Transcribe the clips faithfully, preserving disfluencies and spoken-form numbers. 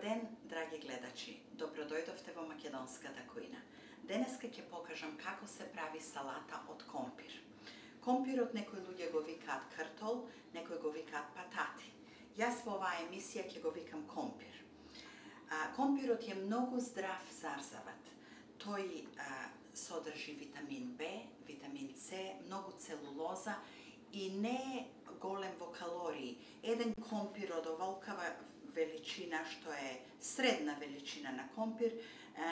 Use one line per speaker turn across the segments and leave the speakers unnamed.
ден, драги гледачи. Добродојдовте во македонската кујна. Денеска ќе покажам како се прави салата од компир. Компирот некои луѓе го викаат картол, некои го викаат патати. Јас во оваа емисија ќе го викам компир. А, компирот е многу здрав зарзават. Тој а, содржи витамин Б, витамин С, многу целулоза и не е голем во калории. Еден компир од оволкава величина, што е средна величина на компир,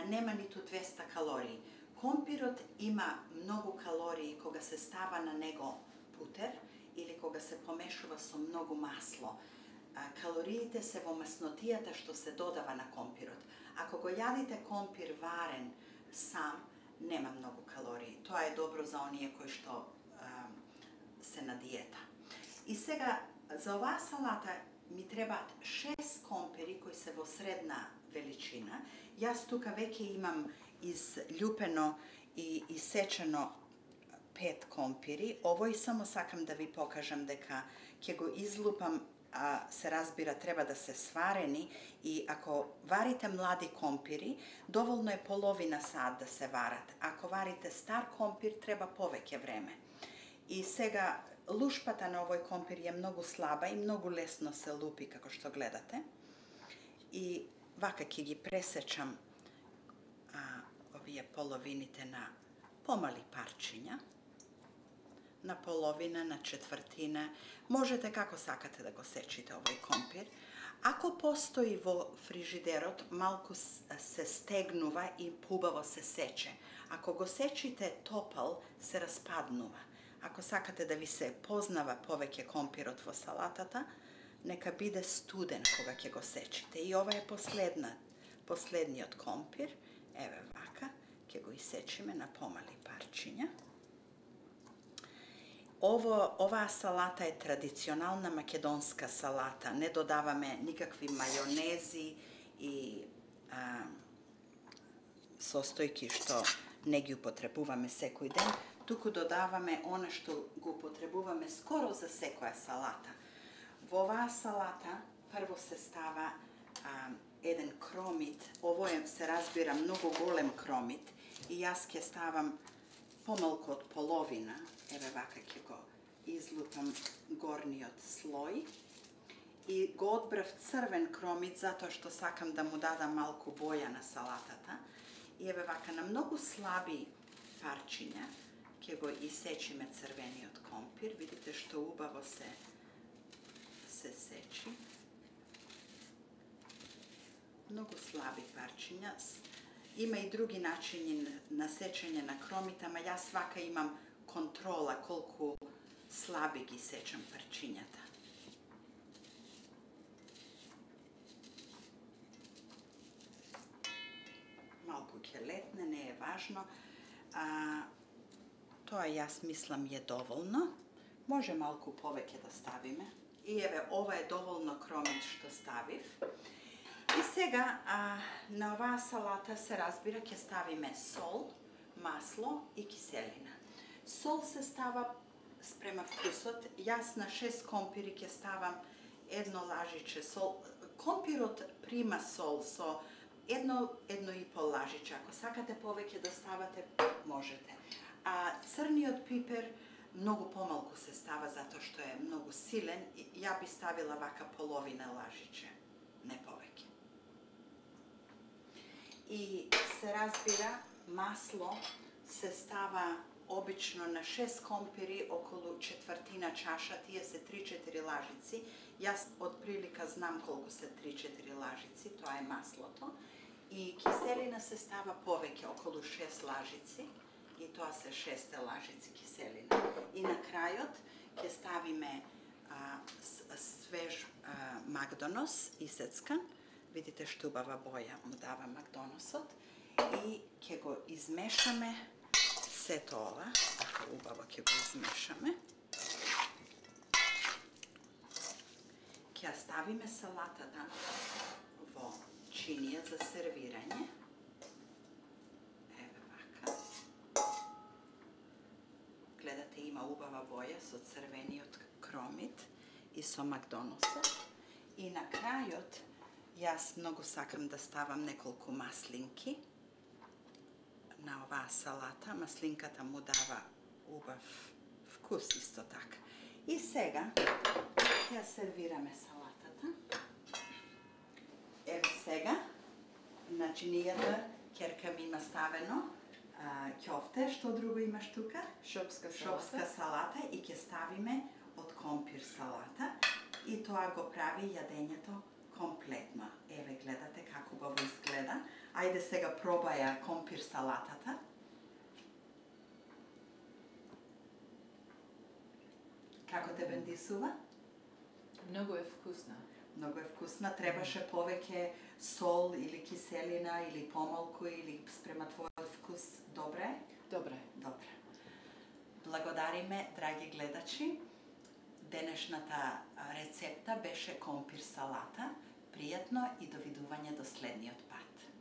нема ниту двеста калории. Компирот има многу калории кога се става на него путер или кога се помешува со многу масло. Калориите се во маснотијата што се додава на компирот. Ако го јадите компир варен сам, нема многу калории. Тоа е добро за оние кои што а, се на диета. И сега, за оваа салата ми требаат шест компири кои се во средна величина. Јас тука веќе имам изљупено и исечено пет компири. Овој само сакам да ви покажам дека ќе го излупам, а се разбира треба да се сварени, и ако варите млади компири, доволно е половина сат да се варат. Ако варите стар компир, треба повеќе време. И сега лушпата на овој компир е многу слаба и многу лесно се лупи, како што гледате. И вака ќе ги пресечам а, овие половините на помали парчиња, на половина, на четвртина. Можете како сакате да го сечите овој компир. Ако постои во фрижидерот, малку се стегнува и пубаво се сече. Ако го сечите топал, се распаднува. Ако сакате да ви се познава повеќе компирот во салатата, нека биде студен кога ќе го сечите. И ова е последна, последниот компир. Еве вака, ќе го исечиме на помали парчиња. Ово, оваа салата е традиционална македонска салата. Не додаваме никакви мајонези и а, состојки што не ги употребуваме секој ден, туку додаваме она што го употребуваме скоро за секоја салата. Во оваа салата прво се става а, еден кромит. Ово е, се разбира, многу голем кромит и јас ќе ставам помалку од половина. Еве вака ќе го излупам горниот слој. И го одбрав црвен кромит затоа што сакам да му дадам малку боја на салатата. И еве вака на многу слаби парчиња ќе го исечиме црвениот компир. Видите што убаво се се сечи. Многу слаби парчиња. Има и други начини на сечење на кромит, ама јас вака имам контрола колку слаби ги сечам парчињата. Малку ќе летне, не е важно. А, тоа јас мислам е доволно. Може малку повеќе да ставиме. И еве, ова е доволно кромит што ставив. И сега а, на оваа салата се разбира ќе ставиме сол, масло и киселина. Сол се става спрема вкусот. Јас на шест компири ќе ставам едно лажиче сол. Компирот прима сол со едно, едно и пол лажиче. Ако сакате повеќе да ставате, можете. А црниот пипер многу помалку се става затоа што е многу силен. Ја би ставила вака половина лажиче, не повеќе. И се разбира, масло се става обично на шест компири, околу четвртина чаша, тие се три-четири лажици. Јас од прилика знам колку се три-четири лажици, тоа е маслото. И киселина се става повеќе, околу шест лажици, и тоа се шест лажици киселина. И на крајот ќе ставиме а, свеж а, Макдонос исецкан. Видите што убава боја му дава Макдоносот. И ќе го измешаме сето ова. Така убаво ќе го измешаме. Ќе ја ставиме салатата во чинија за сервирање. Еве вака. Гледате, има убава боја со црвениот кромит и со Макдоносот. И на крајот Јас многу сакам да ставам неколку маслинки на оваа салата. Маслинката му дава убав вкус исто така. И сега ќе ја сервираме салатата. Еве сега, начинијата, ќерка ми има ставено ќофте, што друго имаш тука?
Шопска салата.
Шопска салата и ќе ставиме од компир салата и тоа го прави јадењето комплетно. Еве гледате како го изгледа. Ајде сега пробаја компир салатата. Како те бендисува?
Многу е вкусна.
Многу е вкусна. Требаше повеќе сол или киселина или помалку или спрема твојот вкус добре?
Добре.
Добре. Благодариме, драги гледачи. Денешната рецепта беше компир салата. Пријатно и довидување до следниот пат.